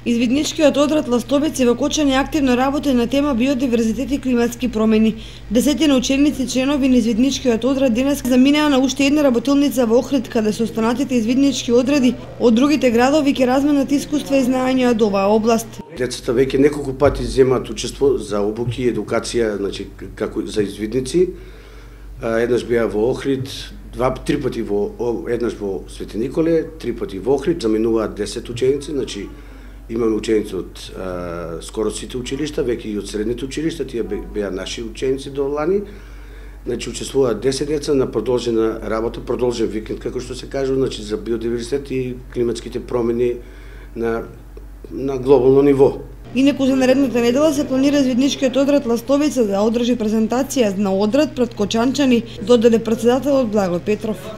Извидничкиот одред Ластовец и Вакочани активно работи на тема биодиверзитет и климатски промени. Десетина ученици членови на Извидничкиот одред денес заминаа на уште една работилница во Охрид, каде со останатите извиднички одреди од другите градови ќе разменат искуства и знаења од оваа област. Децата веќе неколку пати земаат учество за обуки и едукација, значи како за извидници. Еднаш беа во Охрид, три пати еднаш во Свети Николе, 3 пати во Охрид, заминуваат 10 ученици, значи имаме ученици од скоро сите училишта, веќе и од средните училишта, тие беа наши ученици до лани. Значи учествуваат 10 деца на продолжена работа, продолжен викенд како што се кажува, значи за биодиверзитет и климатските промени на глобално ниво. Инаку за наредната недела се планира Извидничкиот одред Ластовица да одржи презентација на одред пред Кочанчани, додаде претседателот Благо Петров.